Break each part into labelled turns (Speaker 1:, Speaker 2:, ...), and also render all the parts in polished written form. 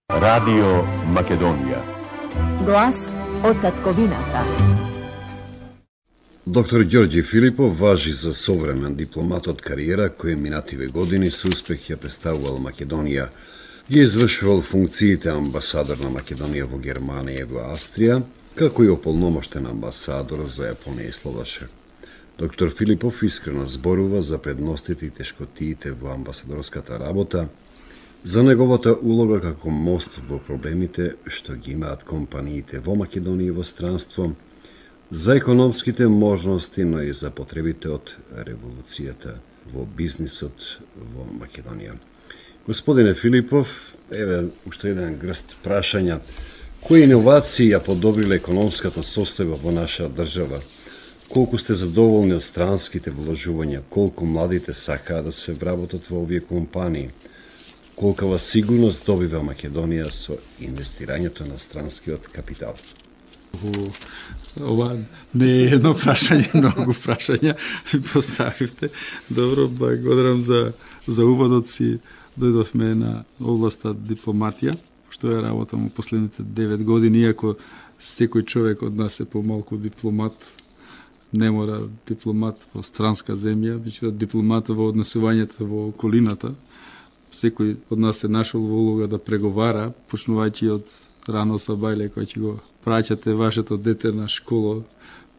Speaker 1: Радио Македонија.
Speaker 2: Глас од татковината.
Speaker 3: Доктор Ѓорѓи Филипов важи за современ дипломат од кариера кој минативе години со успех ја представувал Македонија. Ги извршувал функциите амбасадор на Македонија во Германија и во Австрија, како и ополномоштен амбасадор за Јапонија и Словачка. Доктор Филипов искрено зборува за предностите и тешкотиите во амбасадорската работа, за неговата улога како мост во проблемите што ги имаат компаниите во Македонија и во странство, за економските можности, но и за потребите од револуцијата во бизнисот во Македонија. Господине Филипов, еве уште еден грст прашања. Кои иновации ја подобриле економската состојба во наша држава? Колку сте задоволни од странските вложувања? Колку младите сакаат да се вработат во овие компании? Колкава сигурност добива Македонија со инвестирањето на странскиот капитал?
Speaker 4: Ова не е едно прашање, многу прашања ми поставивте. Добро, благодарам за уводот си. Дојдовме на областа дипломатија, што ја работам во последните 9 години, иако секој човек од нас е помалку дипломат, не мора дипломат во странска земја, веќе дипломат во однесувањето во околината. Секој од нас е нашол во улога да преговара, почнувајќи од рано сабајле кој ќе го праќате вашето дете на школа,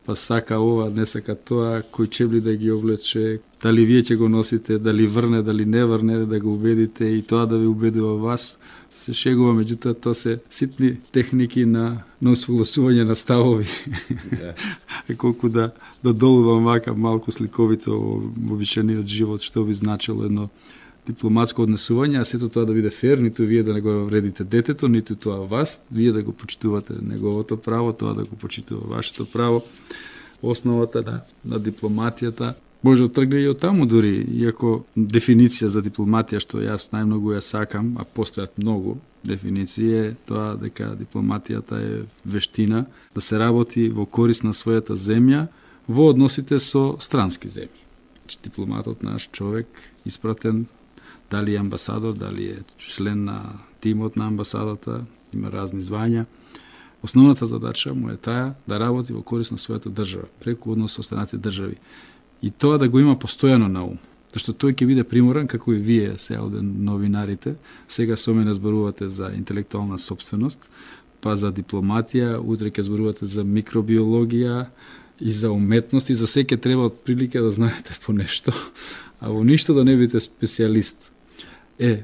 Speaker 4: па сака ова, не сака тоа, кој чебли да ги облече, дали вие ќе го носите, дали врне, дали не врне, да го убедите и тоа да ви убедува вас. Се шегува, меѓутоа тоа се ситни техники на усогласување на ставови. Колку да долувам вака малку сликовито во обичаениот живот, што би значило едно дипломатско однесување, а сето тоа да биде фер, ниту вие да не го вредите детето, ниту тоа вас, вие да го почитувате неговото право, тоа да го почитува вашето право. Основата на дипломатијата може да тргне и од таму дури, иако дефиниција за дипломатија што јас најмногу ја сакам, а постојат многу дефиниции, е тоа дека дипломатијата е вештина да се работи во корист на својата земја во односите со странски земји. Дипломатот наш човек испратен, дали е амбасадор, дали е член на тимот на амбасадата, има разни звања. Основната задача му е таа да работи во корист на својата држава, преку однос со останатите држави. И тоа да го има постојано на ум. Зашто тој ќе биде приморан, како и вие сега оден новинарите, сега со мене зборувате за интелектуална собственост, па за дипломатија, утре ќе зборувате за микробиологија и за уметност, и за секој треба од прилика да знаете по нешто, а во ништо да не бидете специјалист.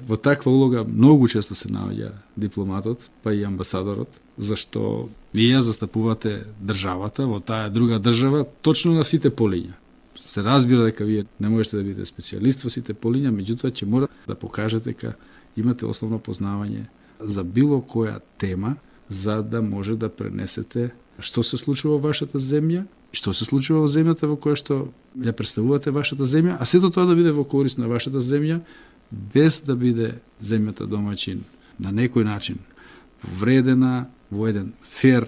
Speaker 4: Во таква улога многу често се наоѓа дипломатот, па и амбасадорот, зашто вие застапувате државата во таа друга држава точно на сите полиња. Се разбира дека вие не можете да бидете специјалист во сите полиња, меѓутоа ќе мора да покажете дека имате основно познавање за било која тема, за да може да пренесете што се случува во вашата земја, што се случува во земјата во која што ја представувате вашата земја, а сето тоа да биде во корист на вашата земја, без да биде земјата домаќин на некој начин повредена во еден фер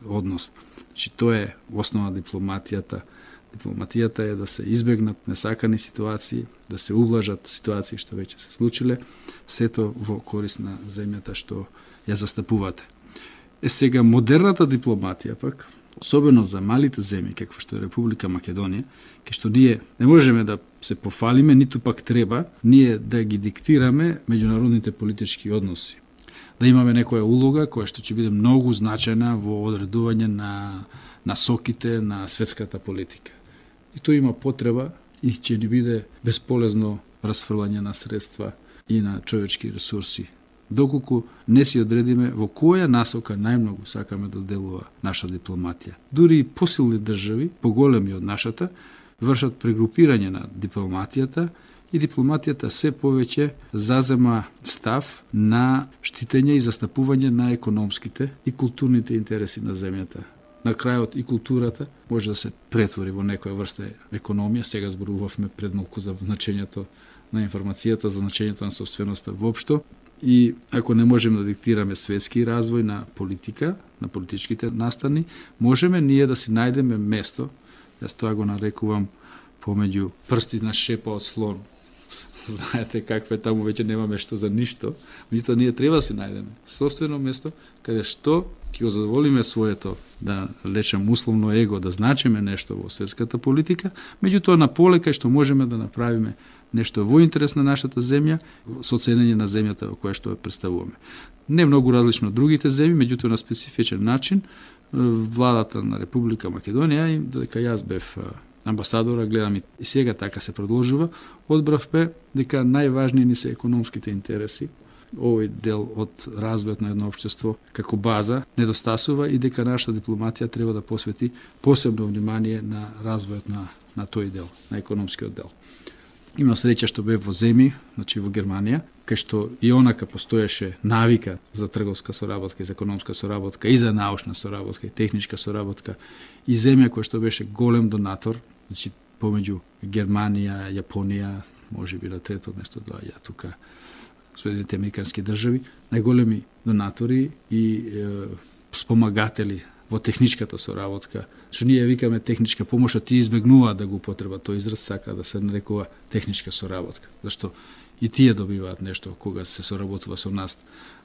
Speaker 4: однос. Значи, тоа е основа на дипломатијата. Дипломатијата е да се избегнат несакани ситуации, да се ублажат ситуации што веќе се случиле, сето во корист на земјата што ја застапувате. Сега модерната дипломатија пак, особено за малите земји, како што е Република Македонија, кај што ние не можеме да се пофалиме, ниту пак треба ние да ги диктираме меѓународните политички односи. Да имаме некоја улога која што ќе биде многу значајна во одредување на насоките на светската политика. И тоа има потреба и ќе ни биде бесполезно расфрлање на средства и на човечки ресурси, доколку не си одредиме во која насока најмногу сакаме да делува наша дипломатија. Дури и посилни држави, поголеми од нашата, вршат прегрупирање на дипломатијата и дипломатијата се повеќе зазема став на штитење и застапување на економските и културните интереси на земјата. На крајот и културата може да се претвори во некоја врста економија. Сега зборувавме пред малку за значењето на информацијата, за значењето на собственоста воопшто. И ако не можеме да диктираме светски развој на политика, на политичките настани, можеме ние да си најдеме место, јас тоа го нарекувам помеѓу прсти на шепа од слон, знаете каква е таму, веќе нема место за ништо, меѓутоа ние треба да си најдеме собствено место каде што ќе го задоволиме своето, да лечам условно его, да значиме нешто во светската политика, меѓутоа на поле кај што можеме да направиме нешто во интерес на нашата земја, со ценење на земјата во која што ја представуваме. Не многу различно од другите земји, меѓутоа на специфичен начин, владата на Република Македонија, и додека јас бев амбасадора, гледам и сега така се продолжува, одбравме дека најважни ни се економските интереси. Овој дел од развојот на едно општество како база недостасува и дека нашата дипломатија треба да посвети посебно внимание на развојот на тој дел, на економскиот дел. Имам среќа што бев во земји, значи во Германија, кај што и онака постоеше навика за трговска соработка, и за економска соработка, и за научна соработка, и техничка соработка, и земја која што беше голем донатор, значи помеѓу Германија, Јапонија, можеби на трето место доаѓа тука Соединените американски држави, најголеми донатори и спомагатели во техничката соработка, што ние викаме техничка помош, а тие избегнуваат да го употребат тој израз, сака да се нарекува техничка соработка. Зашто и тие добиваат нешто кога се соработува со нас.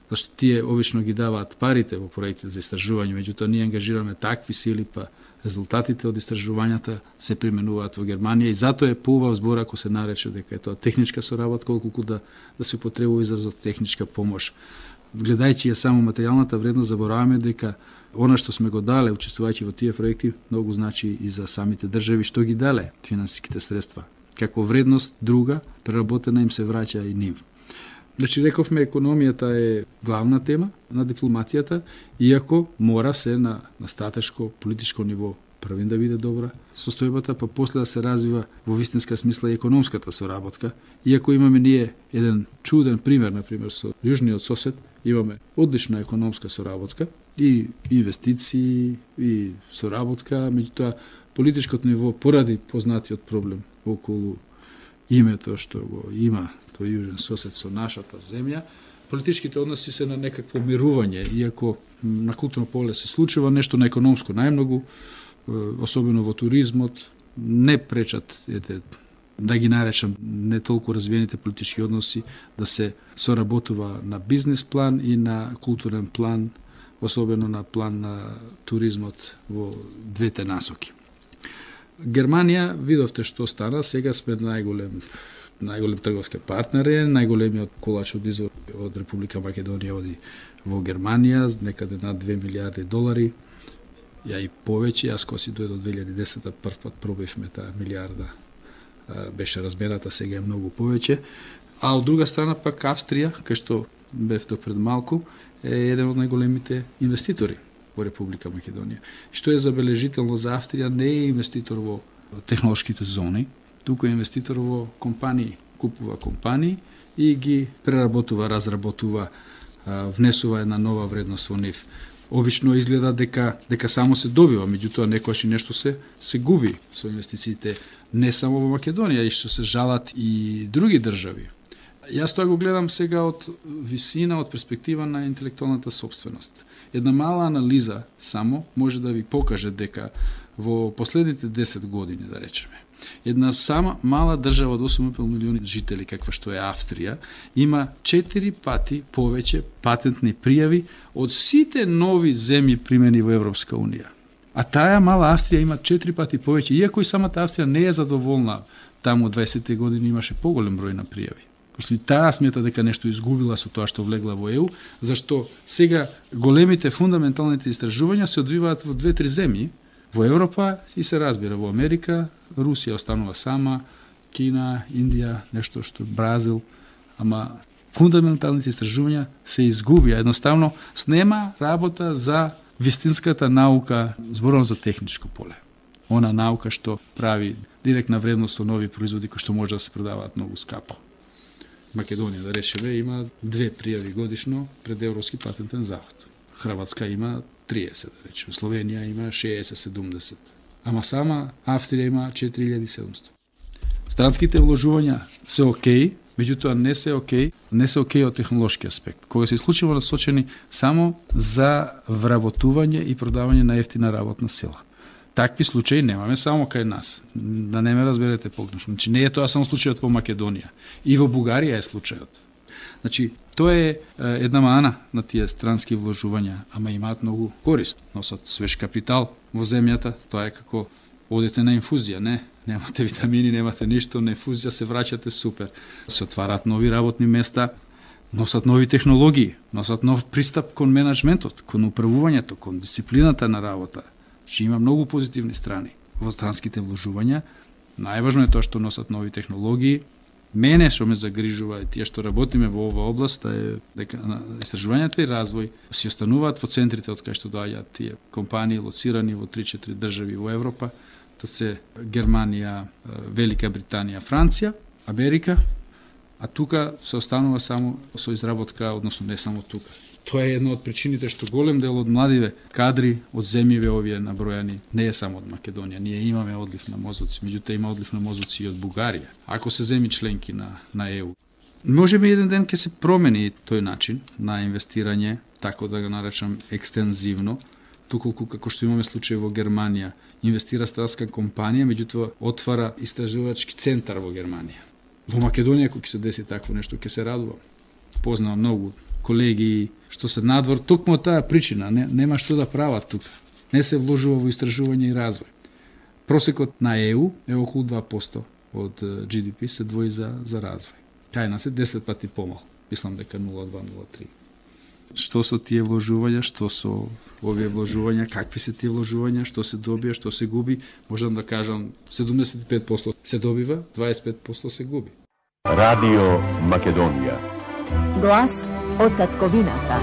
Speaker 4: Зашто тие обично ги даваат парите во проектите за истражување, меѓутоа ние ангажираме такви сили, па резултатите од истражувањата се применуваат во Германија и затоа е поубав збор ако се нарече дека е тоа техничка соработка, отколку да се употребува изразот техничка помош. Гледајќи ја само материјалната вредност, забораваме дека она што сме го дале, учествувајќи во тие проекти, многу значи и за самите држави што ги дале финансиските средства. Како вредност друга, преработена им се враќа и нив. Значи, рековме, економијата е главна тема на дипломатијата, иако мора се на стратешко, политичко ниво првин да биде добра состојбата, па после да се развива во вистинска смисла и економската соработка. Иако имаме ние еден чуден пример, например, со јужниот сосед, имаме одлична економска соработка, и инвестиции, и соработка, меѓутоа политичкото ниво поради познатиот проблем околу името што го има тој јужен сосед со нашата земја, политичките односи се на некакво мирување, иако на културно поле се случува нешто, на економско најмногу, особено во туризмот, не пречат, да ги наречам, не толку развиените политички односи, да се соработува на бизнес план и на културен план, особено на план на туризмот во двете насоки. Германија, видовте што стана, сега сме најголем трговски партнер, најголемиот колач од извоз од Република Македонија оди во Германија, некаде над 2 милиарди долари, ја и повеќе, јас кога си дојде од 2010 прв пат пробивме таа милиарда, беше размерата, сега е многу повеќе, а од друга страна пак Австрија, кај што бев до пред малку, е еден од најголемите инвеститори во Република Македонија. Што е забележително за Австрија, не е инвеститор во технолошките зони, туку е инвеститор во компании, купува компании и ги преработува, разработува, внесува една нова вредност во нив. Обично изгледа дека само се добива, меѓутоа некојаш и нешто се губи со инвестициите не само во Македонија, и што се жалат и други држави. Јас тоа го гледам сега од висина, од перспектива на интелектуалната собственост. Една мала анализа само може да ви покаже дека во последните 10 години, да речеме, една сама мала држава од 8,5 милиони жители, каква што е Австрија, има 4 пати повеќе патентни пријави од сите нови земји примени во Европска Унија. А таа мала Австрија има 4 пати повеќе, иако и самата Австрија не е задоволна, таму 20 години имаше поголем број на пријави. Пошто и таа смета дека нешто изгубила со тоа што влегла во ЕУ, зашто сега големите фундаменталните истражувања се одвиваат во 2-3 земји, во Европа и се разбира во Америка, Русија останува сама, Кина, Индија, нешто што Бразил, ама фундаменталните истражувања се изгубија. Едноставно, снема работа за вистинската наука, зборувам за техничко поле. Она наука што прави директна вредност со нови производи кои што може да се продаваат многу скапо. Македонија, да речеме, има 2 пријави годишно пред Европски патентен завод. Хрватска има 30, да речеме. Словенија има 60-70. Ама сама Австрија има 4700. Странските вложувања се окей, меѓутоа не се окей од технолошки аспект. Кога се исклучиво насочени само за вработување и продавање на ефтина работна сила. Такви случаи немаме само кај нас. Да не ме разберете погрешно. Значи не е тоа само случајот во Македонија. И во Бугарија е случајот. Значи, тоа е една мана на тие странски вложувања, ама имаат многу корист. Носат свеж капитал во земјата, тоа е како одите на инфузија, не? Немате витамини, немате ништо, на инфузија се враќате супер. Се отвараат нови работни места, носат нови технологии, носат нов пристап кон менаџментот, кон управувањето, кон дисциплината на работа. Значи има многу позитивни страни во странските вложувања. Најважно е тоа што носат нови технологии. Мене што ме загрижува е тие што работиме во оваа област е дека истражувањата и развој си остануваат во центрите од кај што доаѓаат тие компании лоцирани во 3-4 држави во Европа. Тоа се Германија, Велика Британија, Франција, Америка, а тука се останува само со изработка, односно не само тука. Тоа е една од причините што голем дел од младиве кадри од земјиве овие набројани не е само од Македонија. Ние имаме одлив на мозоци, меѓутоа има одлив на мозоци и од Бугарија. Ако се земи членки на ЕУ. Можеби еден ден ќе се промени тој начин на инвестирање, така да го наречам екстензивно, токолку како што имаме случај во Германија, инвестира странска компанија, меѓутоа отвара истражувачки центар во Германија. Во Македонија кога ќе се деси такво нешто, ќе се радувам. Познавам многу колеги што се надвор токму од таа причина, нема што да прават тука. Не се вложува во истражување и развој. Просекот на ЕУ е околу 2% од GDP се двои за развој. Кај нас е 10 пати помал. Мислам дека 0,2-0,3. Што со тие вложувања, што со овие вложувања, какви се тие вложувања, што се добија, што се губи, можам да кажам 75% се добива, 25% се губи.
Speaker 1: Radio Македонија.
Speaker 2: Глас од татковината.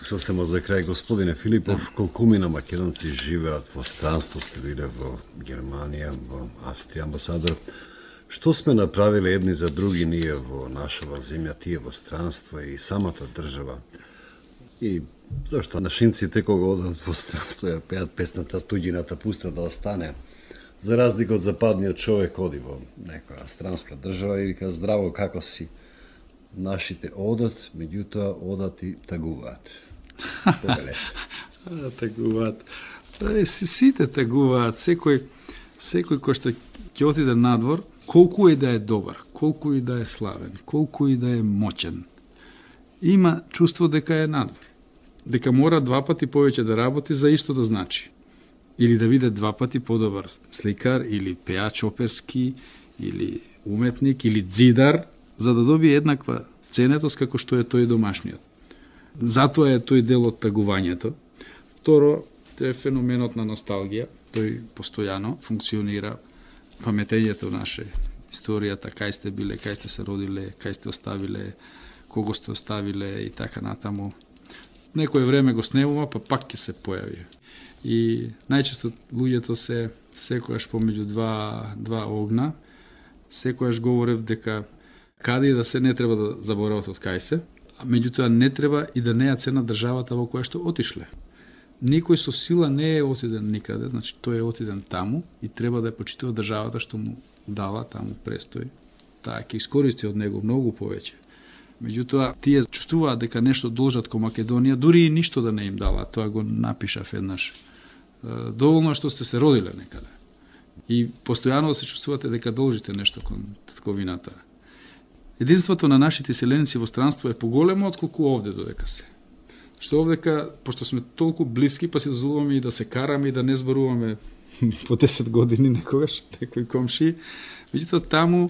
Speaker 3: Сосема за крај, господине Филипов, колкумина македонци живеат во странство, сте биле во Германија, во Австрија, амбасадор. Што сме направиле едни за други ние во нашава земја, тие во странство и самата држава? И зашто нашинците кога одат во странство ја пеат песната "Туѓината пуста да остане", за разлика од западниот човек оди во некоја странска држава и вика здраво како си. Нашите одат, меѓутоа одат и тагуваат.
Speaker 4: Тагуваат. Сите тагуваат, секој кој што ќе отиде надвор, колку и да е добар, колку и да е славен, колку и да е моќен, има чувство дека е надвор. Дека мора 2 пати повеќе да работи за исто да значи. Или да биде 2 пати подобар сликар, или пеач оперски, или уметник, или дзидар, за да добие еднаква ценетост како што е тој домашниот. Затоа е тој дел од тагувањето. Второ, тоа е феноменот на носталгија. Тој постојано функционира. Паметењето наше, историјата, кај сте биле, кај сте се родиле, кај сте оставиле, кого сте оставиле и така натаму. Некој време го снемува, па пак ќе се појави. И најчесто луѓето се секојаш помеѓу два огна, секојаш говорев дека каде и да се не треба да заборават од кај се, а меѓутоа не треба и да не ја цена државата во која што отишле. Никој со сила не е отиден никаде, значи тој е отиден таму и треба да ја почитува државата што му дава таму престој. Таа ќе искористи од него многу повеќе. Меѓутоа, тие чувствуваат дека нешто должат кон Македонија, дури и ништо да не им дала, тоа го напишав еднаш. Доволно што сте се родиле некаде. И постојано се чувствувате дека должите нешто кон татковината. Единството на нашите селеници во странство е поголемо отколку овде додека се. Што овдека, пошто сме толку блиски, па си дозволуваме и да се караме и да не зборуваме по 10 години некогаш, некој комши. Меѓутоа таму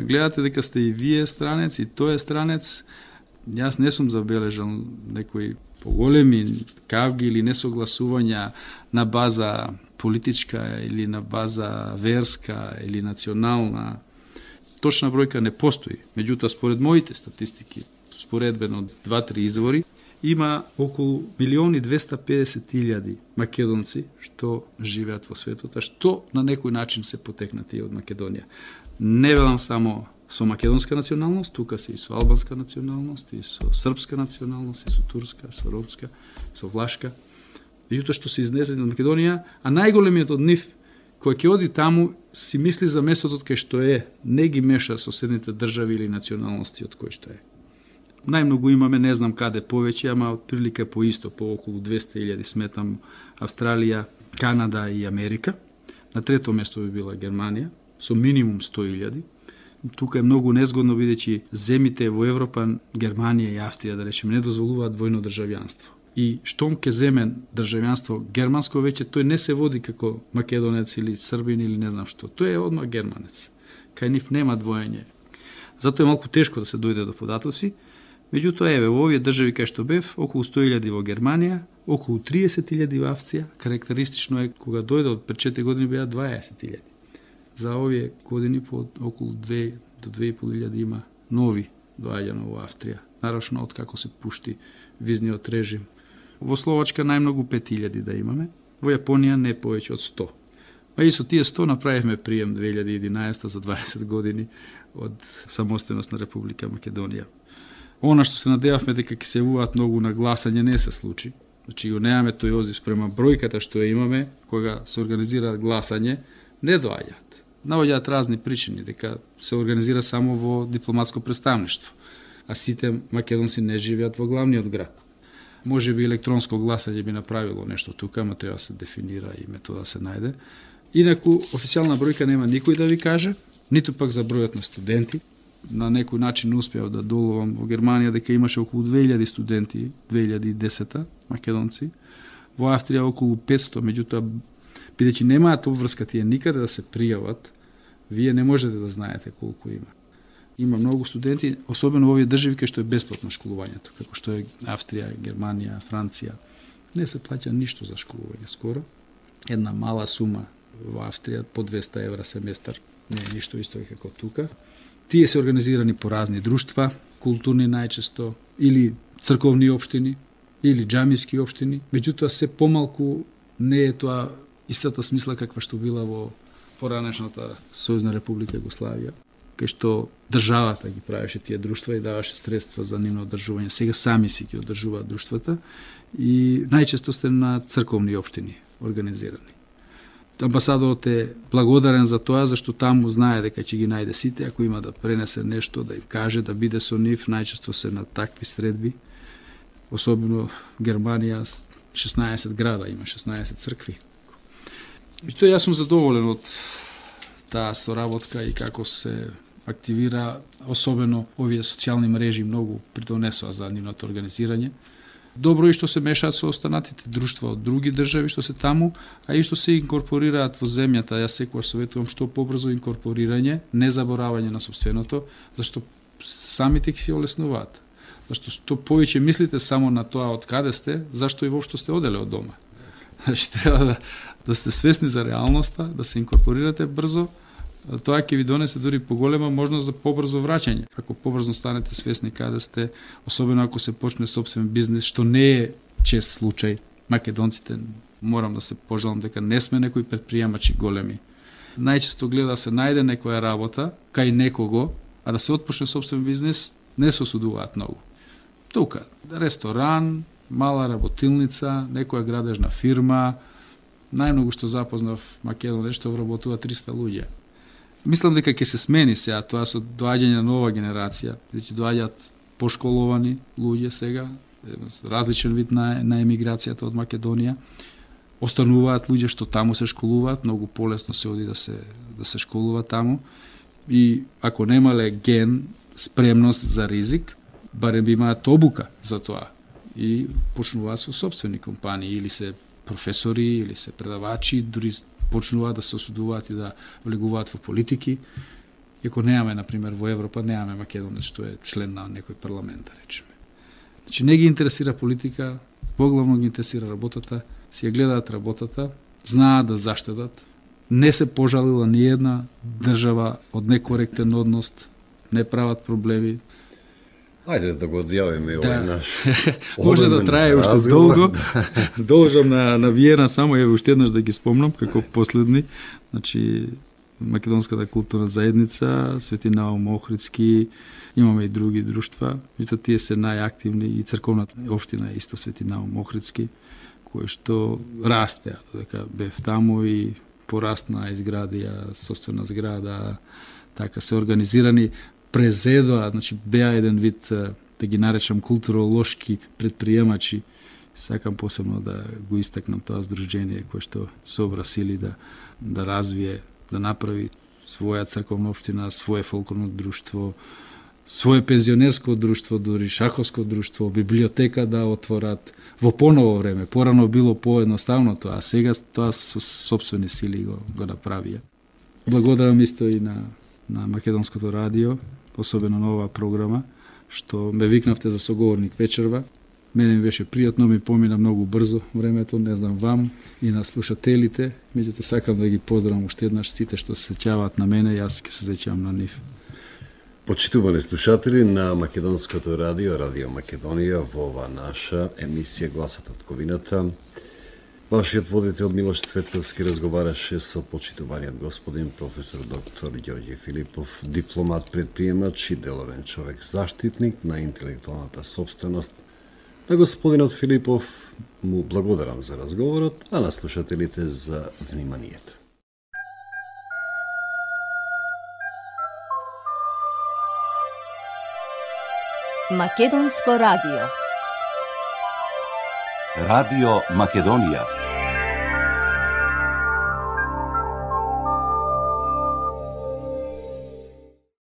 Speaker 4: гледате дека сте и вие странец, и тој е странец. Јас не сум забележал некои поголеми кавги или несогласувања на база политичка или на база верска или национална. Точна бројка не постои. Меѓутоа, според моите статистики, споредбено од 2-3 извори, има околу 1.250.000 македонци што живеат во светот, а што на некој начин се потекнати од Македонија. Не велам само со македонска националност, тука се и со албанска националност, и со српска националност, и со турска, со ромска, со влашка. Меѓутоа што се изнесени од Македонија, а најголемиот од нив, кој ќе оди таму, си мисли за местото кај што е, не ги меша соседните држави или националности од кој што е. најмногу имаме, не знам каде повеќе, ама отприлика по исто, по околу 200.000 сметам Австралија, Канада и Америка. На трето место би била Германија, со минимум 100.000. Тука е многу незгодно, бидејќи земите во Европа, Германија и Австрија, да речеме, не дозволуваат двојно државјанство. И штом ке земе државјанство германско, веќе тој не се води како македонец или србин или не знам што. Тој е одма германец. Кај нив нема двоење. Затоа е малку тешко да се дојде до податоци. Меѓутоа, еве, во овие држави кај што бев, околу 100.000 во Германија, околу 30.000 во Австрија, карактеристично е кога дојде од пред 4 години беа 20.000. За овие години по околу 2 до 2.500 има нови доаѓано во Австрија, нарочно од како се пушти визниот режим. Во Словачка најмногу 5.000 да имаме, во Јапонија не повеќе од 100. А и со тие 100 направивме прием 2011 за 20 години од самостојност на Република Македонија. Она што се надевавме дека ќе се јавуваат многу на гласање не се случи. Значи го немаме тој одзив спрема бројката што ја имаме кога се организира гласање, не доаѓаат. Наоѓаат разни причини дека се организира само во дипломатско представништво, а сите македонци не живеат во главниот град. Може би електронско гласање би направило нешто тука, ама треба да се дефинира и метода се најде. Инаку, официјална бројка нема никој да ви каже, ниту пак за бројот на студенти. На некој начин успеав да доловам во Германија дека имаше околу 2000 студенти 2010 македонци, во Австрија околу 500, меѓутоа бидејќи немаат обврска тие никаде да се пријават, вие не можете да знаете колку има. Има многу студенти, особено во овие држави кај што е бесплатно школувањето, како што е Австрија, Германија, Франција. Не се плаќа ништо за школување скоро. Една мала сума во Австрија по 200 евра семестар, не е ништо исто како тука. Тие се организирани по разни друштва, културни најчесто, или црковни општини, или џамиски општини. Меѓутоа се помалку не е тоа истата смисла каква што била во поранешната Сојузна република Југославија, кај што државата ги правеше тие друштва и даваше средства за нивно одржување. Сега сами си ги одржуваат друштвата и најчесто сте на црковни општини организирани. Амбасадорот е благодарен за тоа, зашто таму знае дека ќе ги најде сите, ако има да пренесе нешто, да им каже, да биде со нив, најчесто се на такви средби. Особено Германија, 16 града има, 16 цркви. И тоа јас сум задоволен од таа соработка и како се активира, особено овие социјални мрежи многу придонесоа за нивното организирање. Добро и што се мешаат со останатите друштва од други држави што се таму, а и што се инкорпорираат во земјата. Јас секогаш советувам што побрзо инкорпорирање, не заборавање на сопственото, зашто самите ќе си олеснуваат. Зашто што повеќе мислите само на тоа од каде сте, зашто и воопшто сте оделе од дома. Значи треба да сте свесни за реалноста, да се инкорпорирате брзо. Тоа ќе ви донесе дури поголема можност за побрзо враќање. Ако побрзо станете свесни каде сте, особено ако се почне сопствен бизнис, што не е чест случај. Македонците, морам да се пожалам дека не сме некои предприемачи големи. Најчесто гледа да се најде некоја работа кај некого, а да се отпочне сопствен бизнис, не се осудуваат многу. Тука, ресторан, мала работилница, некоја градежна фирма, најмногу што запознав Македонија што вработува 300 луѓе. Мислам дека ќе се смени сега тоа со доаѓање на нова генерација, ќе доаѓаат пошколовани луѓе сега, различен вид на емиграцијата од Македонија. Остануваат луѓе што таму се школуваат, многу полесно се оди да се школува таму. И ако немале ген, спремност за ризик, барем би имаат обука за тоа и почнуваат со сопствени компании, или се професори, или се предавачи, дури почнуваат да се осудуваат и да влегуваат во политики. Иако немаме, например, во Европа, немаме македонец што е член на некој парламент, да речеме. Значи, не ги интересира политика, поглавно ги интересира работата, си ја гледаат работата, знаат да заштедат, не се пожалила ни една држава од некоректен однос, не прават проблеми.
Speaker 3: Ајде да го одјавиме овој наш.
Speaker 4: Може да трае уште долго. Должам на Виена само уште еднаш да ги спомнам како последни. Значи Македонската културна заедница, Свети Наум Охридски, имаме и други друштва, и тие се најактивни, и црковната општина исто Свети Наум Охридски, кој што расте, дека бев таму и порасна, изградија собствена зграда, така се организирани, презедоа, значи беа еден вид да ги наречам културолошки предприемачи, сакам посебно да го истакнам тоа здружение кое што собра сили да развие, да направи своја црковна општина, свое фолклорно друштво, свое пензионерско друштво, дури шаховско друштво, библиотека да отворат во поново време. Порано било поедноставно тоа, а сега тоа со сопствени сили го направија. Благодарам исто и на Македонското радио, особено на оваа програма, што ме викнавте за соговорник вечерва. Мене ми беше пријатно, ми помина многу брзо времето, не знам вам и на слушателите, меѓуто сакам да ги поздравам уште еднаш сите што се сеќаваат на мене, јас ќе се сеќавам на нив.
Speaker 3: Почитувани слушатели на Македонското радио, Радио Македонија, во ова наша емисија Гласот од ковината. Вашиот водител Милош Цветковски разговараше со почитуваниот господин професор доктор Ѓорѓе Филипов, дипломат, предприемач и деловен човек, заштитник на интелектуалната сопственост. На господинот Филипов му благодарам за разговорот, а на слушателите за вниманието.
Speaker 2: Македонско радио.
Speaker 1: Radio Makedonija.